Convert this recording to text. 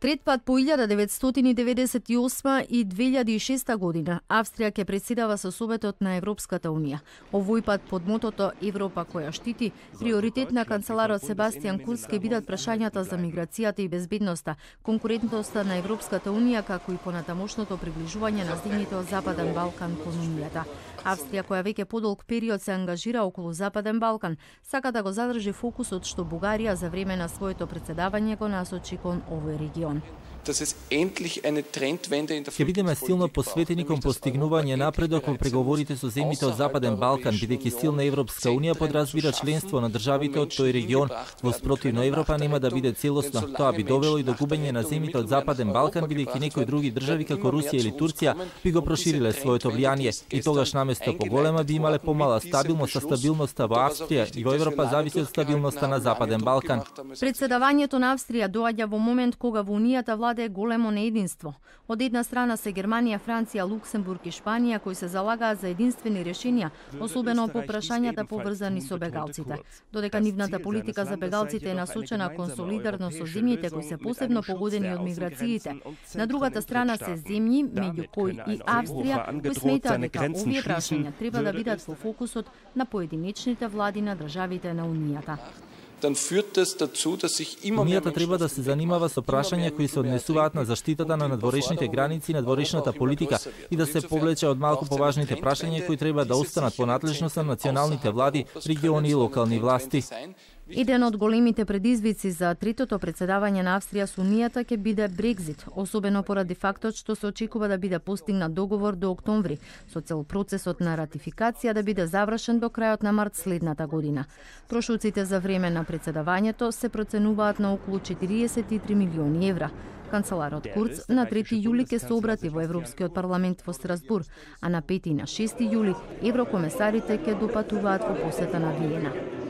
Трет пат по 1998 и 2006 година Австрија ќе претседава со Советот на Европската Унија. Овој пат под мотото Европа која штити, приоритет на канцеларот Себастијан Курц ќе бидат прашањата за миграцијата и безбедноста, конкурентноста на Европската Унија, како и понатамошното приближување на земјите од Западен Балкан кон Унијата. Австрија, која веќе подолг период се ангажира околу Западен Балкан, сака да го задржи фокусот што Бугарија за време на своето претседавање го насочи кон овој регион. Ќе бидеме силно посветени кон постигнување напредок во преговорите со земјите од Западен Балкан, бидејќи силна Европска Унија подразбира членство на државите од тој регион. Во спротивно Европа нема да биде целосна. Тоа би довело и до губење на земјите од Западен Балкан, бидејќи некои други држави како Русија или Турција би го прошириле своето влијание и тогаш наместо поголема би имале помала стабилност, а стабилноста во Австрија и во Европа зависи од стабилноста на Западен Балкан. Председавањето на Австрија доаѓа во момент кога во Унијата владе големо неединство. Од една страна се Германија, Франција, Луксембург и Шпанија кои се залагаат за единствени решенија, особено по прашањата поврзани со бегалците. Додека нивната политика за бегалците е насочена кон солидарност со земјите кои се посебно погодени од миграциите. На другата страна се земји, меѓу кои и Австрија, кои сметаат дека овие прашања треба да бидат во фокусот на поединечните влади на државите на Унијата. Унијата треба да се занимава со прашања кои се однесуваат на заштитата на надворешните граници и надворешната политика и да се повлече од малку поважните прашања кои треба да останат по надлежност на националните влади, региони и локални власти. Еден од големите предизвици за третото претседавање на Австрија со Унијата ќе биде Брекзит, особено поради фактот што се очекува да биде постигнат договор до октомври, со цел процесот на ратификација да биде завршен до крајот на март следната година. Трошоците за време на претседавањето се проценуваат на околу 43 милиони евра. Канцеларот Курц на 3 јули ќе се обрати во Европскиот парламент во Страсбур, а на 5 и на 6 јули еврокомесарите ќе допатуваат во посета на Виена.